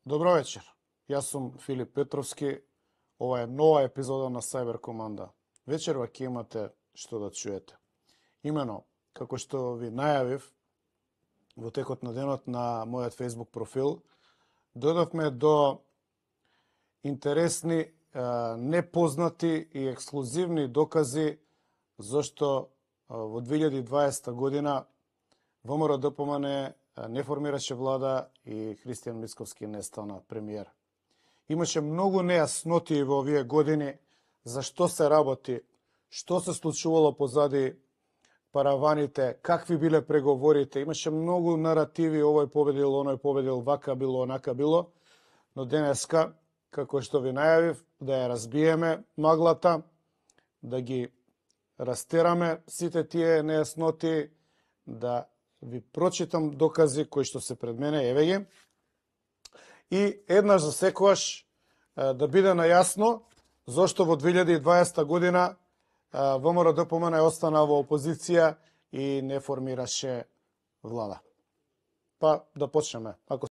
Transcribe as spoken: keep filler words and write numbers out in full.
Добро вечер. Јас сум Филип Петровски. Ова е нова епизода на Cyber Команда. Вечерва ќе имате што да чуете. Имено, како што ви најавив во текот на денот на мојот Facebook профил, дојдовме до интересни, непознати и ексклузивни докази зашто во две илјади и дваесета година ВМРО-ДПМН не формираше влада и Христијан Мицковски не стана премиер. Имаше многу нејасноти во овие години за што се работи, што се случувало позади параваните, какви биле преговорите. Имаше многу наративи, овој победил, оној победил, вака било, онака било, но денеска, како што ви најавив, да ја разбиеме маглата, да ги растераме сите тие нејасноти, да ви прочитам докази кои што се пред мене, еве ги, и еднаш за секогаш да биде најасно зошто во две илјади и дваесета година ВМРО-ДПМН остана во опозиција и не формираше влада. Па да почнеме. Ако